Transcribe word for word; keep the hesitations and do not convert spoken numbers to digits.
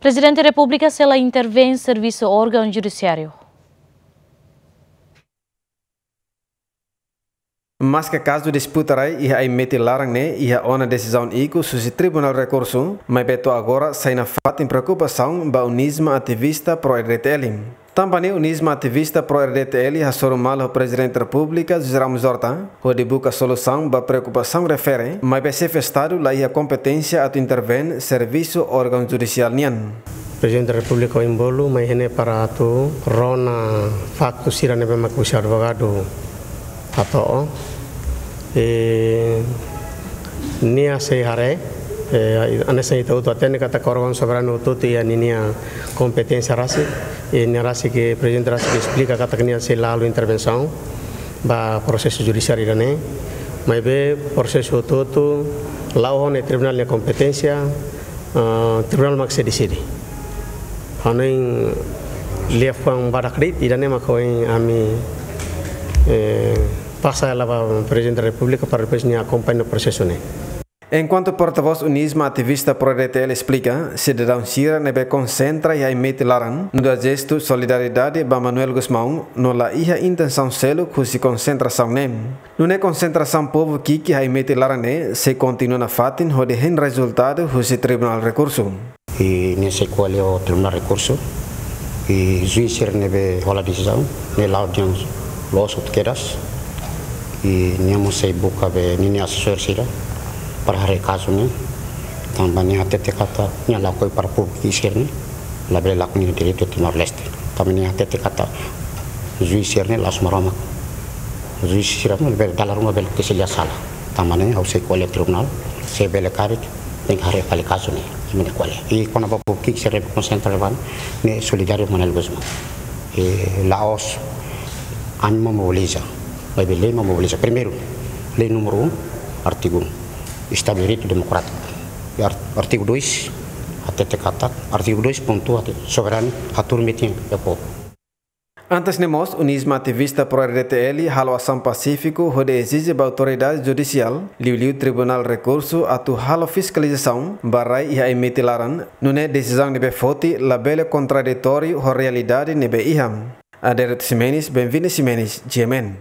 Prezidente Repúblika sei la intervein servisu órgaun judisiáriu. Maske kazu disputa rai iha Aimete laran ne'e iha ona desizaun ikus husi Tribunál Rekursu, maibé to'o agora sai nafatin preokupasaun ba UNISMA ativista pró-R D T L. Tanba ne'e UNISMA ativista pró-R D T L hasoru malu Prezidente Repúblika José Ramos Horta hodi buka solusaun ba preokupasaun refere, maibé xefe Estadu la iha kompeténsia atu intervein servisu órgaun judisiál nian. Prezidente Repúblika ohin bolu mai iha ne'e para atu rona faktu sira ne'ebé mak husi advogadu hato'o. I nia sei haree, eh, hanesan ita hotu hatene katak órgaun soberanu hotu-hotu iha ninia kompeténsia rasik, i nia rasik, Prezidente rasik esplika katak nia sei la halo intervensaun ba prosesu judisiáriu ida-ne'e, maibé prosesu hotu-hotu la'o ona iha tribunál nia kompeténsia, ah, tribunál mak sei deside. Hanoin liafuan badak de'it, ida-ne'e mak ohin ami, eh, pasa hela ba Prezidente Repúblika para depois nia akompaña prosesu ne'e. Enkuantu portavós UNISMA ativista pró-R D T L esplika, sidadaun sira ne'ebé konsentra iha Aimete laran nu'udar jestu solidariedade ba Manuel Gusmão, no la iha intensaun seluk husi konsentrasaun ne'e. Nune'e konsentrasaun povu ki'ik iha Aimete laran ne'e sei kontinua nafatin hodi hein rezultadu husi Tribunál Rekursu. I nia sei ko'alia ho Tribunál Rekursu, i juís sira ne'ebé hola desizaun ne'e la'o dehan loos hotu kedas. I nia mós sei buka be ninia asesór sira para haree kazu ne'e. Tanba nia hatete katak nia lakohi para povu ki'ik sira-ne'e labele lakon nia direitu iha Timor-Leste. Tanba nia hatete katak juís sira-ne'e la'ós Maromak. Juís sira-ne'e bele dala ruma bele tesi lia sala. Tanba ne'e ha'u sei ko'alia tribunál, se bele karik, tenke haree fali kazu ne'e, imi-nia ko'alia. I kona-ba povu ki'ik sira ne'ebé konsentra ba ne'e, ne'e solidáriu ho Manuel Gusmão. I la'ós ami mak mobiliza, maibé lei mak mobiliza. Primeiru, lei númeru um, artigu um, Estadu de Direitu Demokrátiku. I ar-, artigu dois, hatete katak, artigu dois pontu, hatete soberanu, hatuur metin iha povu. Antes ne'e mós, UNISMA ativista pró-R D T L halo asaun pasífiku hodi ezije ba autoridade judisiál, liuliu Tribunál Rekursu atu halo fiskalizasaun ba rai iha Aimete laran, nune'e desizaun ne'ebé foti labele kontraditóriu ho realidade ne'ebé iha. Adérito Ximenes, Benvini Ximenes, G M N.